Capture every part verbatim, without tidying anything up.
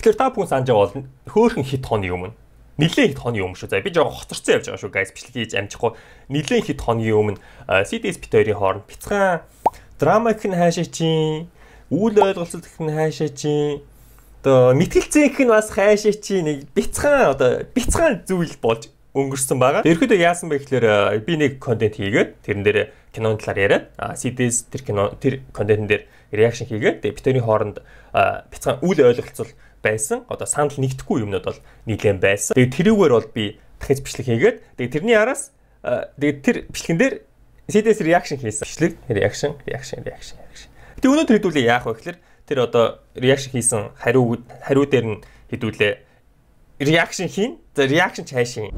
Тэгэхээр та бүхэн санаж байгаа бол хөөхөн хит хоны өмнө нилээн хит хоны өмнө шүү. За би жоохон хоцорсон явж байгаа шүү guys. Бичлэг хийж амжихгүй. Нилээн хит хоны өмнө си ди эс бит хоёрын хооронд бяцхан драмаг нь хаашаа чинь, үйл ойлголцол гэх нь хаашаа чинь, одоо мэтгэлцээнх нь бас хаашаа чинь нэг бяцхан одоо бяцхан зүйл болж өнгөрсөн байгаа. Ерөөдөө яасан бэ гэхээр би нэг контент хийгээд тэрэн дээр киноны талаар яриад си ди эс тэр кино тэр контентын дээр реакшн хийгээд тэгээ битэрийн хооронд бяцхан үйл ойлголцол байсан. Одоо санал нэгдэхгүй юмнууд бол нийлэн байсан. Тэгээ тэрүүгээр бол би дахиж бичлэг хийгээд тэгээ тэрний араас тэгээ тэр бичлэгэн дээр си ди эс реакшн хийсэн. Бичлэг реакшн реакшн реакшн реакшн. Тэгээ өнөөдөр хэдүүлээ яах вэ гэхээр тэр одоо реакшн хийсэн хариу хариу дээр нь хэдүүлээ реакшн хийн. За реакшн цааш хийн.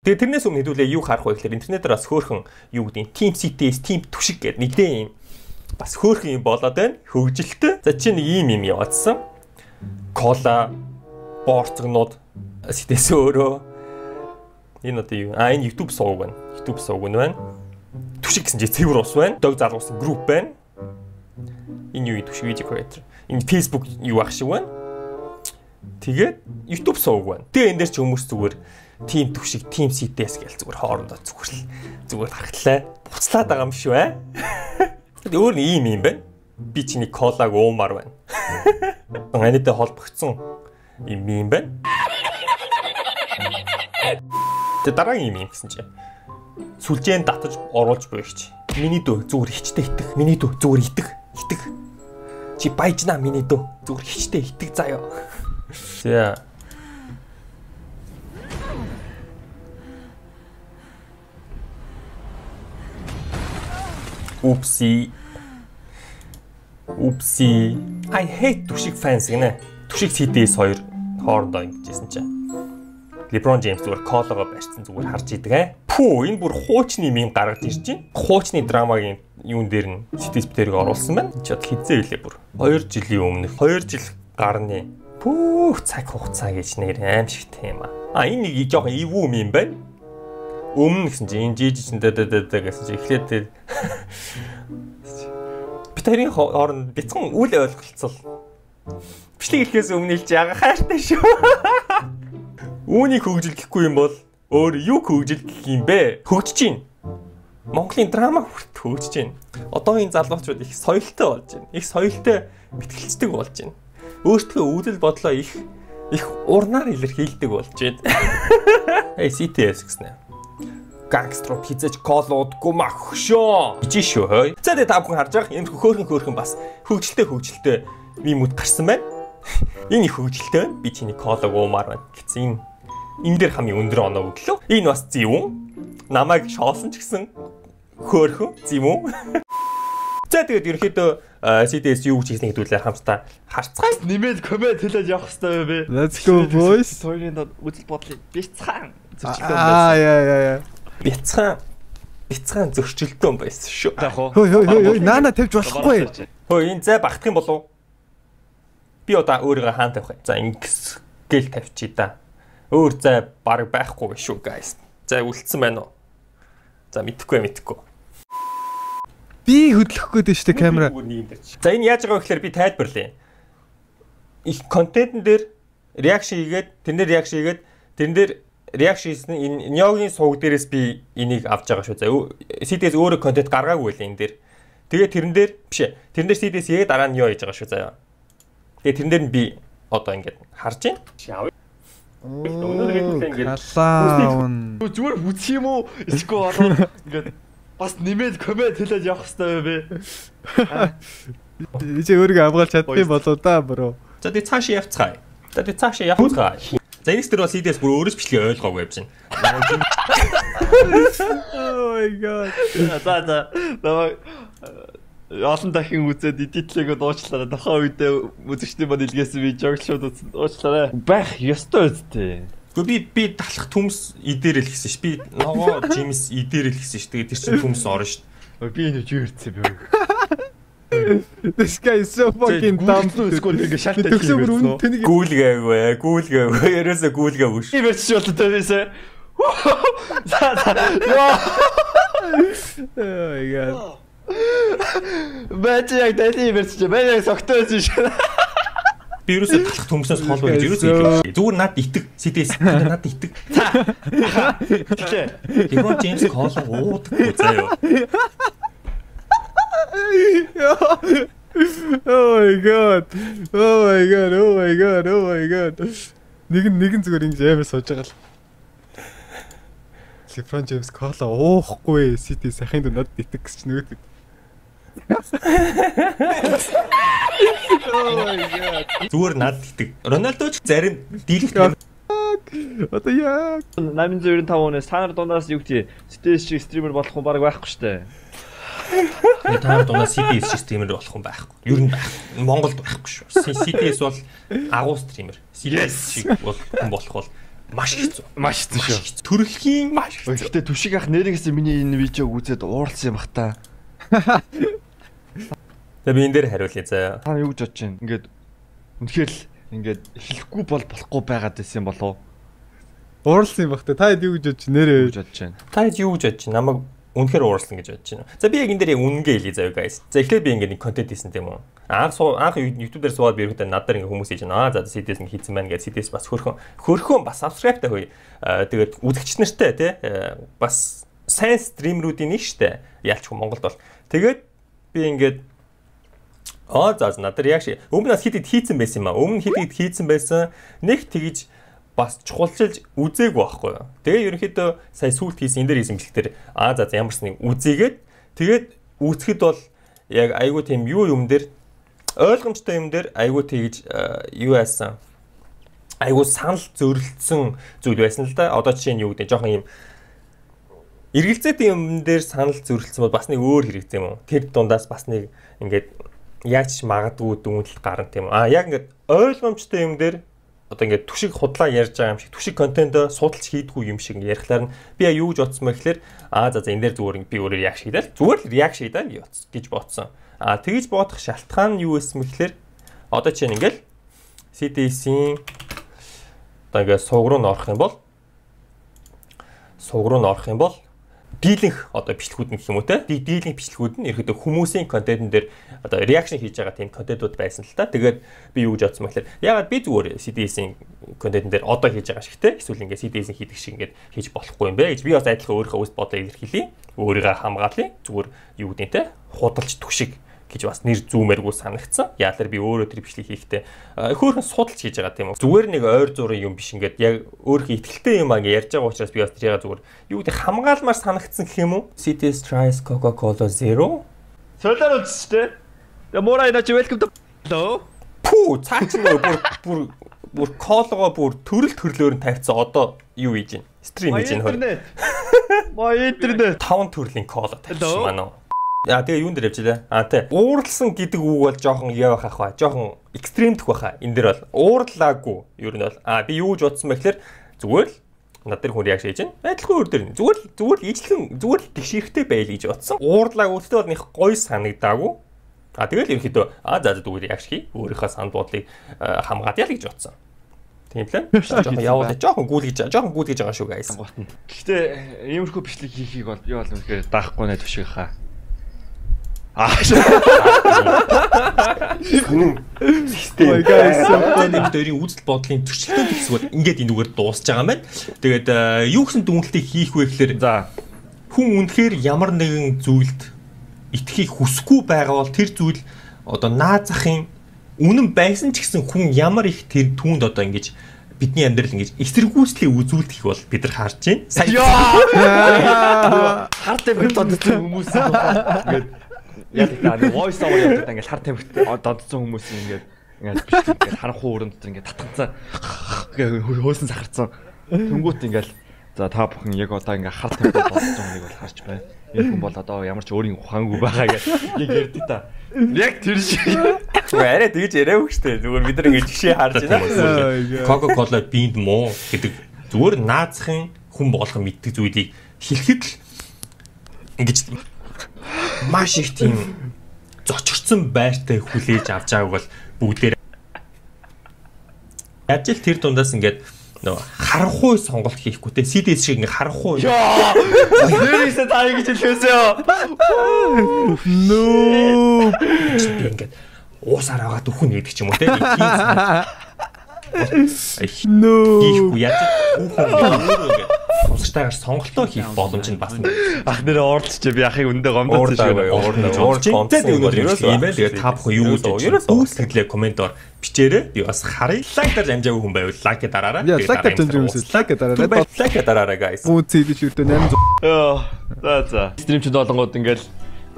Тэгээ тэрнээс өмнө хэдүүлээ юу харах вэ гэхээр интернетээр бас хөөхөн юу гэдэг Team си ти эс, Team түшиг гэдэг нэгдээ юм. Бас хөөхөн юм болоод байна. Хөгжилтэй. За чи нэг ийм юм яваадсан. Кола, борцгонууд си ти эс өөрөө энэ одоо юу? А энэ YouTube сувг байна. YouTube сувг нь байна. Түшиг гэсэн чи цэвэр ус байна. Дог залгуулсан групп байна. Энэ юу түшиг видео creator. Энэ Facebook юу ах шиг байна. Тэгээд YouTube сувг байна. Тэгээ энэ дээр ч хүмүүс зүгээр Team түшиг, Team си ти эс гэж зүгээр хоорондоо зүгэрл зүгээр харахтлаа. Буцлаад байгаа юм шүү аа. Тэгээд өөр нэг юм юм байна. Би чиний колаг уумаар байна. Анидаа холбогдсон юм юм байна. Тэгээд дараагийн юм юм гэсэн чинь сүлжээнд татаж оруулж буйгч. Миний дөө зүгээр хичтэй итэх. Миний дөө зүгээр итэх. Итэх. Чи баяжнаа миний дөө зүгээр хичтэй итэх заяа. За Oopsie. Oopsie. I hate түшиг fans гинэ. Түшиг си ди эс хоёр хоорондоо ингэжсэн чинь. LeBron James зүгээр колого барьсан зүгээр харж идэг аа. Пүү энэ бүр хуучны мим гаргаж ирж байна. Хуучны драмагийн юун дээр нь си ти эс битэрийг оруулсан байна. Чи бод хизээ хэлээ бүр. хоёр жилийн өмнө хоёр жил гарны пүү цаг хугацаа гэж нэр аимшигтэй юм аа. А энэ нэг жоохон ивүү мим байна. Өмнө гэсэн чинь энэ жижиг дэ дэ дэ гэсэн чинь эхлээд битэрийн хооронд бяцхан үл ойлголцол. Бичлэг ирэхээс өмнө хэлж яага хайртай шүү. Үүнийг хөгжил гэхгүй юм бол өөр юу хөгжил гэх юм бэ? Хөгжиж чинь. Монголын драма хүрт хөгжиж чинь. Одоо энэ залуучууд их соёлтой болж байна. Их соёлтой мэтгэлцдэг болж байна. Өөртөө үүдэл бодлоо их их урнаар илэрхийлдэг болж байна. Эй си ти эс гэсэн. Гангстер пиццаж колуудгүй мах шөө. Ичи шүү хой. За тэгээ та бүхэн харж байгаа энэ хөөхөн хөөхөн бас хөгжилтэй хөгжилтэй мимүүд гарсан байна. Энэ их хөгжилтэй байна. Би чиний колог уумаар байна гэсэн. Энэ дээр хамгийн өндөр оноо өглөө. Энэ бас зэвүүн. Намайг шоолсон ч гэсэн хөөхөн зэвүүн. За тэгээд ерөнхийдөө си ди эс юу гэж хийснийг хэдүүлээ хамтдаа харцгаая. Нэмээд комент хэлээд явах хэрэгтэй бэ. Let's go boys. Хоёрын үзэл бодлыг бяцхан зөрчилдөөн байсан. Аа яа яа яа. Бяцхан бяцхан зөрчилдөөн байсан шүү. Хөөе хөөе хөөе наана тавьж болохгүй. Хөөе энэ зай багтах юм болов уу? Би одоо өөрийгөө хаан тавих. За ингэс гэл тавьчий да. Өөр зай баг байхгүй шүү guys. Зай үлдсэн байна уу? За мэдэхгүй мэдэхгүй. Би хөдлөх гээд штэ камера. За энэ яаж байгаа вэ гэхээр би тайлбарлая. Их контентн дээр реакшн хийгээд тэрнэр реакшн хийгээд тэрэн дээр реакшн хийсэн энэ Нёгийн сувг дээрээс би энийг авч байгаа шүү. За си ди эс өөрөө контент гаргаагүй байлаа энэ дээр. Тэгээ тэрэн дээр биш ээ. Тэрэн дээр си ди эс яг дараа нь Нё хийж байгаа шүү заяа. Тэгээ тэрэн дээр нь би одоо ингэж харж байна. Өнөөдөр хэлсэн ингэж зүгээр бүчих юм уу? Эсвэл болоод ингэж бас нэмээд комент хэлээд явах хэрэгтэй бэ? Чи өөрийгөө авгаалж чаддсан болоо да бро. За тэгээ цаашаа явцгаая. За тэгээ цаашаа явцгаая. За энэс тэр бол си ди эс бүр өөрөөс бичлэгээ ойлгоогүй явж байна. Oh my god. За за. Намайг олон дахин үзээд эдитлэгээ дуучлаарай. Тухайн үедээ үзэгчдийн манд илгээсэн видеог шууд дуучлаарай. Байх ёстой үстэй. Гэхдээ би би талах төмс идэрэл гэсэн ш. Би ногоо Джеймс идэрэл гэсэн ш. Тэгээд тэр чинь төмс орно ш. Би энэ юу ирцээ бэ? This guy is so fucking dumb. Скол ингэ шалтгаан хийсэн. Гүүлгээгүй, гүүлгээгүй. Ерөөсө гүүлгээгүй ш. Би ч болоо тавьсан. За за. Яа. Oh my god. Бэж яг дайны мэрч чи бэж яг согтойсон шүү. Би юусоо талах хүмүүсээс хол байж юусоо хэлээ. Зүгээр над итэг сидэс над итэг. Тэглээ. Леброн Джеймс кола уудаггүй заяа. Oh my god. Oh my god. Oh my god. Oh my god. Нэг нэгэн зүгээр ингэж амар сууж байгаа л. LeBron James кола уухгүй City сахинд над итэг гэж нөгөөд. Oh my god. Зүгээр над итэг. Рональдо ч зарим дийлэх Одоо яа. восемь девяносто пять оноос та нар дундаас юу гэх стэйс шиг стример болох хүн баг байхгүй штэ. Та нар дундаас си ди эс стример болох хүн байхгүй. Ер нь байхгүй. Монголд байхгүй шүү. си ди эс бол агуу стример. си ди эс шиг бол хүн болох бол маш хэцүү. Маш хэцүү шүү. Төрөлхийн маш хэцүү. Гэхдээ түшиг ах нэрээс миний энэ видеог үзээд ууралсан юм бах та. За би энэ дээр хариулъя заа. Та юу гэж бодож байна? Ингээд үнэхээр л ингээд хэлэхгүй бол болохгүй байгаад байсан юм болов уу? Ууралсан юм бах та. Та юу гэж бодож нэрээ гэж бодож байна. Та юу гэж бодож байна? Намайг үнэхээр ууралсан гэж бодож байна. За би яг энэ дээр яг үнэнгээ хэлье заа guys. За эхлээд би ингээд нэг контент хийсэн тийм үү? Анх анх YouTube дээр суугаад би ирэхдээ надаар ингээд хүмүүс хийж байна. Аа за си ди эс нэг хийсэн байна гэж си ди эс бас хөрхөн хөрхөн бас subscribe та хөөе. Тэгээд үзэгч нартай тий бас сайн стримерүүдийн нэг штэ. Яалчгүй Монголд бол. Тэгээд би ингээд аа за надаар яг шиг өмнө бас хитэд хийцэн байсан юм аа. Өмнө хитэд хийцэн байсан. Нэг тэгж бас чухалчилж үзээгүй байхгүй юу. Тэгээ ерөнхийдөө сая сүүлд хийсэн энэ дээр хийсэн бэлгээр аа за ямар ч нэг үзээгээд тэгээд үүсгэхэд бол яг айгүй тийм юу юм дээр ойлгомжтой юм дээр айгүй тэгж юу яасан айгүй санал зөрлөлдсөн зүйл байсан л да. Одоо жишээ нь юу гэдэг жоохон юм эргэлзээтэй юм дээр санал зөрлөлдсөн бол бас нэг өөр хэрэгтэй юм уу? Тэр дундаас бас нэг ингээд яаж магадгүй дүнэлт гарна тийм үү? Аа яг ингээд ойлгомжтой юм дээр одоо ингээд түшиг худлаа ярьж байгаа юм шиг түшиг контент судалж хийдгүү юм шиг ярихлаар нь би яа юу гэж бодсон бэ гэхээр аа за за энэ дээр зүгээр би өөрөө реакшн хийдэл зүгээр л реакшн хийдэл гэж бодсон. Аа тэгж бодох шалтгаан нь юу байсан бэ гэхээр одоо чинь ингээд си ди эс-ийн одоо ингээд суг руу н орох юм бол суг руу н орох юм бол дийлэнх одоо бичлэгүүд нь гэх юм уу те дийлэнх бичлэгүүд нь ерөөдөө хүмүүсийн контентын дээр одоо реакшн хийж байгаа тийм контентууд байсан л та. Тэгээд би юу гэж бодсон бэ гэхээр ягаад би зүгээр си ди эс-ийн контентын дээр одоо хийж байгаа шиг те эсвэл ингээд си ди эс-ийн хийдэг шиг ингээд хийж болохгүй юм бэ гэж би бас адилхан өөрийнхөө үс бодоо илэрхийлье. Өөрийгөө хамгаалъя. Зүгээр юу гэдэг те худалч түшиг гэж бас нэр зүүмээргүй санагдсан. Яалаар би өөрөө тэр бичлэг хийхдээ хөөхөн судалж хийж байгаа тийм үү. Зүгээр нэг ойр зургийн юм биш ингээд яг өөрийнхөө ихтгэлтэй юм аа гэж ярьж байгаа учраас би бас тэрийг зүгээр юу гэдэг хамгаалмаар санагдсан гэх юм уу? си ди эс tries Coca-Cola Zero. Солиор үзчихтэй. Тэгээ муура инаач welcome to hello. Пүү цаа чи бүр бүр бүр колого бүр төрөл төрлөөр нь тавьцсан одоо юу хийж байна? Стрим хийж байна. Маа интернет. Таван төрлийн кола тавьсан маань. Яа тэгээ юун дээр явжээ. Аа тий. Ууралсан гэдэг үг бол жоохон яа байх хаа. Жоохон экстремдэх байхаа. Энэ дээр бол уурлаагүй. Ер нь бол аа би юу гэж бодсон бэ гэхээр зүгээр л над дээр хүн реакшн хийж байна. Адилхан өөр дээр. Зүгээр л зүгээр л ижлэн зүгээр л тэгшэрхтэй байл гэж бодсон. Уурлаагүй гэхдээ бол нэг гоё санагдаагүй. Аа тэгэл ерөөхдөө аа за за зүгээр реакшн хий. Өөрийнхөө санд буудлыг хамгаалъя л гэж бодсон. Тийм лээ. Жоохон явуулаа. Жоохон гүйлгэж жоохон гүйлгэж байгаа шүү guys. Гэхдээ иймэрхүү бичлэг хийхийг бол би бол үнэхээр даахгүй нэ төшиг хаа. Аа. Систем. Нэг дөрийн үзэл бодлын төрчлөлтөнд хэсгүүд ингээд энэ үгээр дуусж байгаа юм байна. Тэгээд юу гэсэн дүнэлтийг хийх вэ гэхээр за хүн үнэхээр ямар нэгэн зүйлд итгэхийг хүсэхгүй байгаа бол тэр зүйл одоо наад захын үнэн байсан ч гэсэн хүн ямар их тэр түүнд одоо ингэж бидний амьдрал ингэж эсэргүүцлийг үзүүлдэг бол бид нар харж байна. Сая. Хартай бид додсон хүмүүс ингээд яг нэг voice over явдаг ингээд хар тамхит додсон хүмүүс ингээд ингээд бичлэг ингээд харанхуй өрөөнд дотор ингээд татгалцаа ингээд хөөсөн сахарцсан. Тэнгүүт ингээд за та бүхэн яг одоо ингээд хар тамхит додсон хүнийг бол харж байна. Энэ хүн бол одоо ямар ч өөрийн ухаангүй байгаа гэж яг ярьдаг та. Яг тэр шиг. Арай тэгж яриаггүй штэ. Зүгээр бид нар ингэж жишээ харж байна. Coca-Cola бинд муу гэдэг зүгээр наазахын хүн болгон мэддэг зүйлийг хэлэхэд л ингэж маш их тийм зочирсон байртай хүлээж авч байгааг бол бүгдээр яаж л тэр дундаас ингээд нөө харанхуй сонголт хийхгүй те си ди эс шиг ингээ харанхуй. Яа. Нэрээсээ таа ингэж хэлээсээ. Нөө. Ингээд уусаар аваад өхөн гэдэг ч юм уу те. Нөө. Хийхгүй яаж өхөн тусгайтайгаар сонголтоо хийх боломж нь бас ах нэрээ уурдч би ахыг өндөө гомдсон шүү дээ. Уурдч. Тэгээд юм байна. Тэгээд та бүхэн юу гэж үүсгэлээ комментоор бичээрэй. Би бас харъя. Лайк дарж амжаагүй хүн байвал лайк дараарай. Яа, лайк дарж амжаагүй лайк дараарай. Лайк дараарай guys. Үүсэй гэж өгдөө восемь сая. Яа. За за. Стримчд болгоод ингээл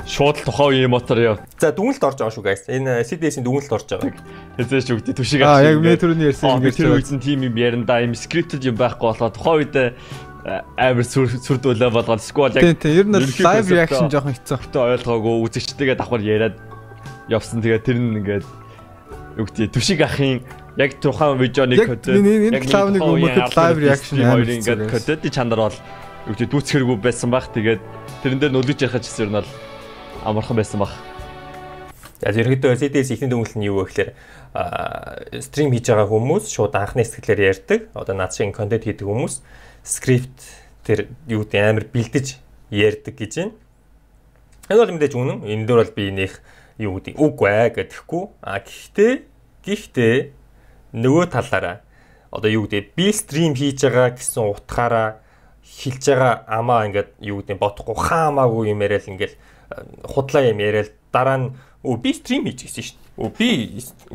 шууд л тухайн үеийн мотор яа. За дүнэлт орж байгаа шүү guys. Энэ си ди эс-ийн дүнэлт орж байгаа. Хэзээш үгдээ түшиг авчих. Аа яг მე түрүүний ярьсан ингээд тэр үеийн тим юм яранда юм скриптд юм байхгүй болоо тухайн үед амар сүрдүүлээ болгоод сквал яг тийм ер нь лайв реакшн жоохон хэцүү. Тэ ойлгоогүй үзэгчтэйгээ давхар яриад явсан. Тэгээд тэр нь ингээд үгдээ түшиг ахын яг тухайн видеоны код яг клавны өмнөх лайв реакшн хоёрын ингээд кодод чанар бол үгдээ дүүцхэргүй байсан баг. Тэгээд тэрэн дээр нөлөж ярих гэсэн юм бол амархан байсан баг. За ерөнхийдөө си ди эс ихний дүнэлт нь юу вэ гэхээр стрим хийж байгаа хүмүүс шууд анхны сэтгэлээр ярьдаг. Одоо над шиг контент хийдэг хүмүүс скрипт тэр юу гэдэг амар бэлдэж ярьдаг гэж байна. Энэ бол мэдээж үнэн. Энэ дөр бол би нэх юу гэдэг үгүй ээ гэдэхгүй. А гэхдээ гэхдээ нөгөө талаараа одоо юу гэдэг би стрим хийж байгаа гэсэн утгаараа хэлж байгаа амаа ингээд юу гэдэг бодохгүй хаамаагүй юм яриад ингээд худлаа юм яриад дараа нь өө би стрим хийж гисэн шүү дээ. Өө би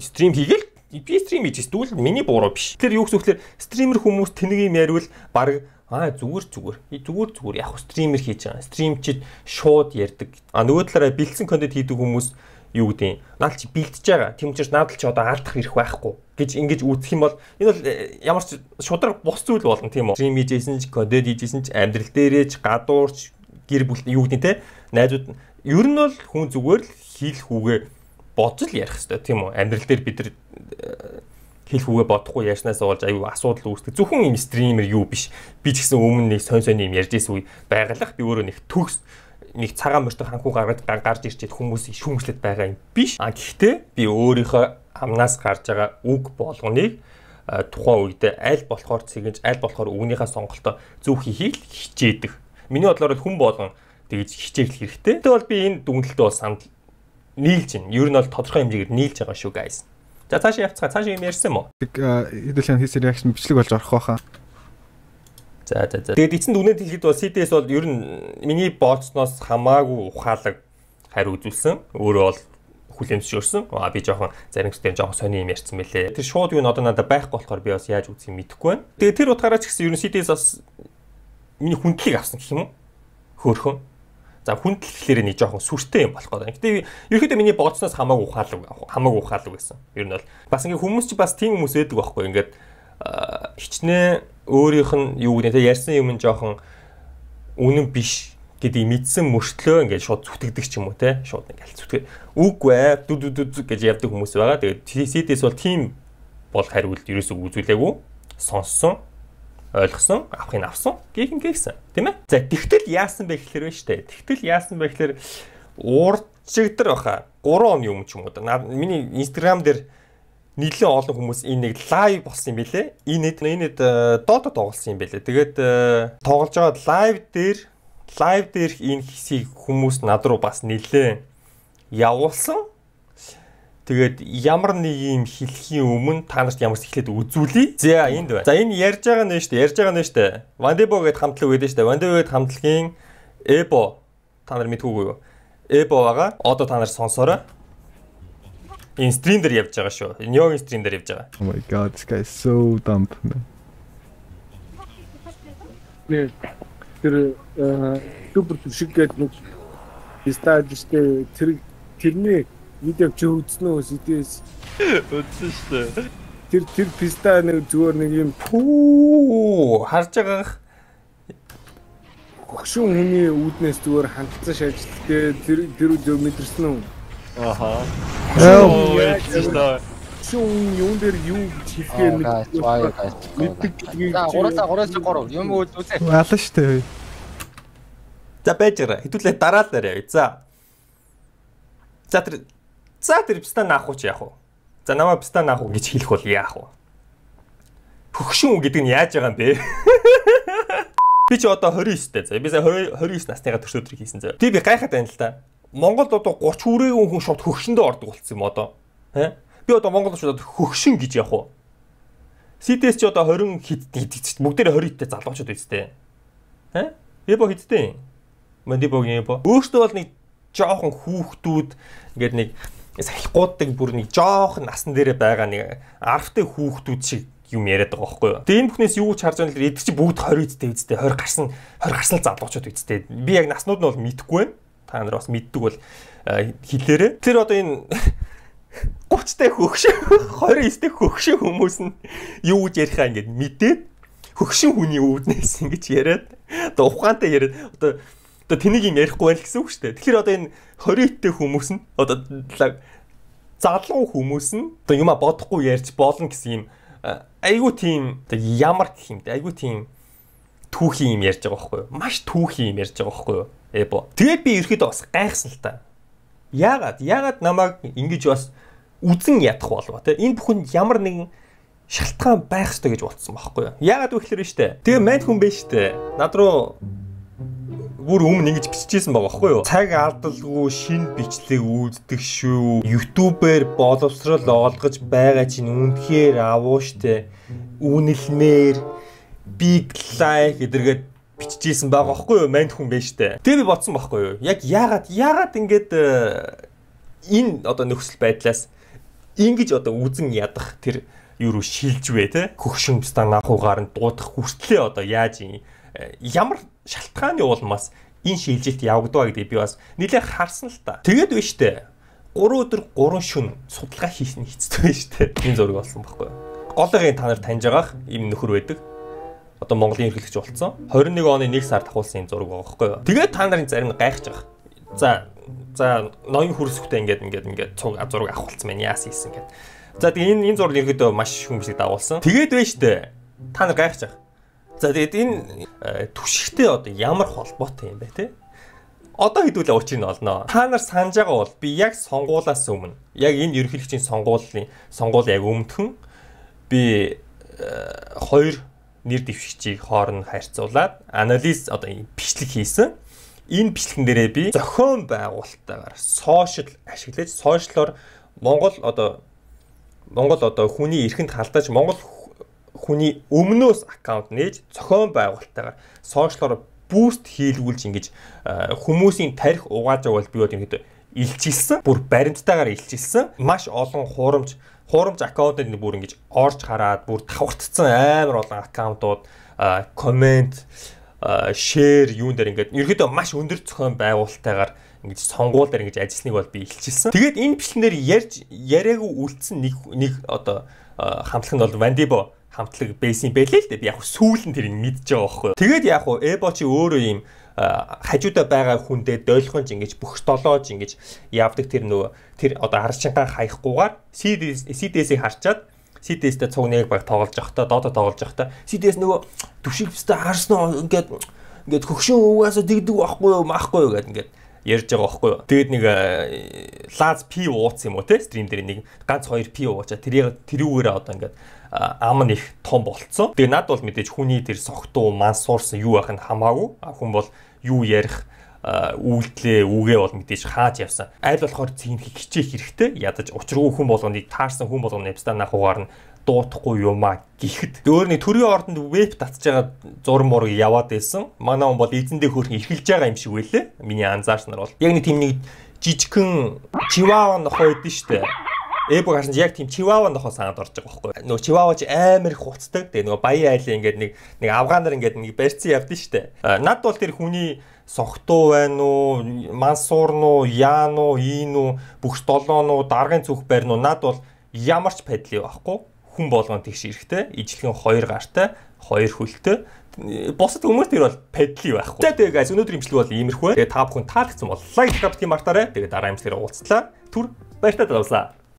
стрим хийгээл би стрим хийж эсвэл миний буруу биш. Тэр юу гэхээр стример хүмүүс тэнийг юм яриул баг аа зүгээр зүгээр. Зүгээр зүгээр яг стример хийж байгаа. Стримчид шууд ярьдаг. А нөгөө талаараа бэлдсэн контент хийдэг хүмүүс юу гэдэг наад чи бэлдэж байгаа. Тийм учраас наад чи одоо алдах хэрэг байхгүй гэж ингэж үүсэх юм бол энэ бол ямар ч шудраг бус зүйл болно тийм үү. Стрим хийжсэн ч контент хийжсэн ч амьдрал дээрээ ч гадуурч гэр бүл юу гэдэг те найзууд ер нь бол хүн зүгээр л хийх үгээ бодож л ярих хэрэгтэй тийм үү. Амьдрал дээр бид нар хэлэх үгээ бодохгүй яснаас болж аюу асуудал үүсдэг. Зөвхөн юм стример юу биш. Би ч гэсэн өмнө нэг сон сони юм ярьж ирсэн үе байгалах би өөрөө нэг төгс нэг цагаан мөртөг ханхуу гаргаад гарч ирчихэд хүмүүс шүүмжлээд байгаа юм биш. А гэхдээ би өөрийнхөө амнаас гарч байгаа үг болгоныг тухайн үед аль болохоор цэгэж аль болохоор үгнийхээ сонголтоо зөв хийхийг хичээдэг. Миний бодлоор хүн болгон тэгж хичээх хэрэгтэй. Тэгвэл бол би энэ дүнэлтээ бол санд нийлж байна. Ер нь бол тодорхой хэмжээгээр нийлж байгаа шүү guys. За цаашаа явцгаа. Цаашаа юм ярьсан юм уу? Хэдүүлэн хийсэн реакшн бичлэг болж орох байхаа. За за за. Тэгээд эцэнд үнэт хэлэхэд бол си ди эс бол ер нь миний бооцсноос хамаагүй ухаалаг хариу үзүүлсэн. Өөрөө бол хүлэмжшөөрсөн. Аа би жоохон зарим хэсгээр жоохон сони юм ярьсан мэлээ. Тэр шууд юу н одоо надад байхгүй болохоор би бас яаж үзье мэдэхгүй байна. Тэгээд тэр утгаараа ч гэсэн ер нь си ди эс бас миний хүндлийг авсан гэх юм уу? Хөөхөн. За хүндэл гэхлээр нэг жоохон сүртэй юм болох гэдэг. Гэтэ ерөөхдөө миний бооцсноос хамаагүй ухаалаг хамаагүй ухаалаг байсан. Ер нь бол бас ингээ хүмүүс ч бас тийм хүмүүс байдаг байхгүй. Ингээд хичнээн өөрийнх нь юу гэдэг те ярьсан юм нь жоохон үнэн биш гэдгийг мэдсэн мөртлөө ингээд шууд зүтгэдэг ч юм уу те шууд ингээд зүтгэв. Үгүй ээ дүү дүү дүү гэж явдаг хүмүүс байгаа. Тэгээд си ди эс бол тийм бол хариулт ерөөсөө үзүүлээгүй. Сонссон, ойлгосон, авахыг авсан, гэх юм гээсэн. Тийм ээ. За тэгтэл яасан бэ гэхэлэр вэ штэ. Тэгтэл яасан бэ гэхэлэр уурчигдэр баха. гурван он юм ч юм уу. Миний Instagram дээр нийлэн олон хүмүүс энэ нэг лайв болсон юм билэ. Энэ энэ Dota тоглосон юм билэ. Тэгээд тоглож байгаа лайв дээр лайв дээр энэ хэсгийг хүмүүс над руу бас нэлээ явуулсан. Тэгээд ямар нэг юм хэлхийн өмнө та нарт ямар ч эхлээд үзүүлье. За энд байна. За энэ ярьж байгаа нь шүү дээ. Ярьж байгаа нь шүү дээ. Вандебо гэдэг хамтлаг байдаг шүү дээ. Вандебо гэдэг хамтлагийн Эбо та нар мэдгүй юу? Эбо байгаа. Одоо та нар сонсоорой. Энэ стрим дээр явж байгаа шүү. Нёгийн стрим дээр явж байгаа. Oh my god, this guy is so dumb. Нэ тэр супер шиг гэдэг нэг стадистэй тэр тэрний видеог чи үзсэн үү сэтээс үзсэн шүү дээ. Тэр тэр писта нэг зүгээр нэг юм оо харж байгаа хөгшин хүний үүднээс зүгээр хандсан шажилттэй тэр тэр зөв мэдэрсэн үү? Аха. Оо шүүн юун дээр юу хэлэхээр мэддэг гэдгийг за гураас гураас гурав юм үзүүлээ. Алан штэ. За байж байгаа. Хэдүүлээ дараалал явъя. За. За тэр за тэр пистан наах уу чи яах вэ? За намаа пистан наах уу гэж хэлэх бол яах вэ? хөгшин үг гэдэг нь яаж байгаа юм бэ? Би ч одоо twenty-nine дэ. За би twenty-nine насныгаа төрс өдрийг хийсэн зөө. Тэг би гайхаад байна л да. Монголд одоо thirty хүрээгүй хүн шууд хөгшөндөө ордог болсон юм одоо. Тэ? Би одоо Монголд шууд хөгшин гэж явах уу? си ди эс ч одоо twenty хэд бүгдээр twenty-тэй залуучууд үстэй. Тэ? Эбо хиттэй. Мандибогийн эбо. Өөртөө бол нэг жоохон хүүхдүүд ингээд нэг салхиуддаг бүр нэг жоохон насан дээрээ байгаа нэг арвтай хүүхдүүд шиг юм яриад байгаа байхгүй юу. Тэгээ энэ бүхнээс юу ч харж байгаа нэлээд эдгээр чи бүгд twenty-тэй үстэй twenty гарсан twenty гарсан залуучууд үстэй. Би яг наснууд нь бол мэдэхгүй байна. Та нар бас мэддэг бол хэлээрээ. Тэр одоо энэ thirty-тай хөгшин twenty-тай хөгшин хүмүүс нь юу гэж ярихаа ингээд мэдээд хөгшин хүний үүднээс ингэж яриад одоо ухаантай яриад одоо одоо тэнийг юм ярихгүй байл гэсэн үг шүү дээ. Тэгэхээр одоо энэ twenty-тэй хүмүүс нь одоо залуу хүмүүс нь одоо юма бодохгүй ярьж болно гэсэн юм айгуу тийм ямар гэх юм бэ? Айгуу тийм түүхий юм ярьж байгаа байхгүй юу? Маш түүхий юм ярьж байгаа байхгүй юу? Эбо. Тэгээд би ерөөдөө бас гайхсан л та. Яагаад? Яагаад намайг ингэж бас үзэн ядах болов те? Энэ бүхэнд ямар нэгэн шалтгаан байх ёстой гэж бодсон байхгүй юу? Яагаад вэ гэхээр штэ. Тэгээ мань хүн байж штэ. Над руу бүр өмнө ингэж биччихсэн байгаа байхгүй юу? Цаг алдалгүй шинэ бичлэг үүлддэг шүү. YouTube-ээр боловсрол олгож байгаа чинь үнэхээр авуу штэ. Үнэлмээр big like гэдэргээд биччихсэн байгаа байхгүй юу? Манд хүн байж штэ. Тэгээ би бодсон байхгүй юу? Яг яагаад яагаад ингэж энэ одоо нөхцөл байдлаас ингэж одоо үзэн ядах тэр юу руу шилж вэ те? Хөгшин станахуугаар нь дуудах хүртлээ одоо яаж юм ямар шалтгааны улмаас энэ шилжилт явагдав гэдэг би бас нэлээд харсан л та. Тэгээд биш үү? three өдөр three шөнө судалгаа хийсэн хэцүү байж тээ. Энэ зураг болсон байхгүй юу? Голыгийн та нар таньж байгаах ийм нөхөр байдаг. Одоо Монголын ерөнхийлөгч болсон. twenty-one оны one сард авахулсан энэ зураг байгаа байхгүй юу? Тэгээд та нарын зарим нь гайхаж байгаа. За за ноён хүрсэхтэй ингээд ингээд ингээд цуг зураг авахулсан байна. Яас хийсэн гэдэг. За тэгээд энэ энэ зураг ерөнхийдөө маш хүмүүсийг дагуулсан. Тэгээд байж тээ. Та нар гайхаж байгаа. За тэгээд энэ түшигтэй одоо ямар холбоотой юм бэ те? Одоо хэдүүлээ учрыг нь олноо. Та нар санаж байгаа бол би яг сонгуулаас өмнө, яг энэ ерөнхийлөгчийн сонгуулийн сонгуул яг өмнөхөн би хоёр нэр дэвшигчийг хооронд харьцуулаад анализ одоо бичлэг хийсэн. Энэ бичлэгэн дээрээ би зохион байгуулалтаагаар сошиал ашиглаж, сошиалор Монгол одоо Монгол одоо хүний эрхэнд халдаж Монгол хүний өмнөөс аккаунт нээж зохион байгуулалтаагаар сошиалоор буст хийлгүүлж ингэж хүмүүсийн тарих угааж байгаа бол би одоо илчилсэн. Бүр баримттайгаар илчилсэн. Маш олон хуурамч хуурамч аккаунтууд бүр ингэж орж хараад бүр давхартцсан амар олон аккаунтууд комент шеэр юун дээр ингээд ерөөдөө маш өндөр зохион байгуулалтаагаар ингэж сонгуул дээр ингэж ажилласныг бол би илчилсэн. Тэгээд энэ бичлэгнэр ярьж яриаггүй үлдсэн нэг нэг одоо хамтлаг нь бол Вандибо хамтлаг байсан байлээ л дээ. Би яг сүүлэн тэрийг мэдж байгаа байхгүй. Тэгээд яг уу Эбо чи өөрөө юм хажуудаа байгаа хүндээ дойлохонч ингэж бүх долоож ингэж явдаг тэр нөгөө тэр одоо арчингаа хаяггүйгээр си ди эс-ийг харчаад си ди эс-тэй цуг нэг баг тоглож явахдаа доодо тоглож явахдаа си ди эс нөгөө түшиг бистэ харснаа ингээд ингээд хөгшин уугаасаа дигдэг байхгүй юу маахгүй юу гэдэг ингээд ярьж байгаа байхгүй юу. Тэгээд нэг лаз пи ууц юм уу те стрим дээр нэг ганц хоёр пи уучаа тэрийг тэрүүгээрээ одоо ингээд ам нь их том болцсон. Тэгээ над бол мэдээж хүний тэр согтуу мансуурсан юу байх нь хамаагүй. Хүн бол юу ярих үйлдэлээ үгээ бол мэдээж хааж явсан. Айл болохоор цэгнэх хичээх хэрэгтэй. Ядаж учиргүй хүн болгоныг таарсан хүн болгоны явстан ахугаар нь дуутахгүй юмаа гэхэд өөр нэг төрийн ордонд веб татж байгаа зураг мураг яваад байсан. Манай хүн бол эзэндээ хөөрхөн эрхэлж байгаа юм шиг байлээ. Миний анзаарснаар бол яг нэг тийм нэг жижигхэн чиваава нохоо идэв штэ. Эбо гарсан яг тийм чиваава нохоо санаад орж байгаа байхгүй. Нөгөө чиваава ч амар их хуцдаг. Тэгээ нөгөө баян айлын ингээд нэг нэг афганаар ингээд нэг барьцсан явдсан штэ. Над бол тэр хүний согтуу байна уу, мансуур нь уу, яан уу, ийн үү, бүх долоон уу, даргын цүх байр нь уу над бол ямар ч падли байхгүй. Хүн болгон тэгш эрэхтэй, ижлэгэн хоёр гартай, хоёр хөлтэй. Босод хүмүүс тэр бол падли байхгүй. За тэгээ guys өнөөдөр имжлэг бол иймэрхүү. Тэгээ та бүхэн таалагдсан бол лайк, subscribe тийм мартаарай. Тэгээ дараа имжлэгээр уулзлаа. Түр баяртай давсаа.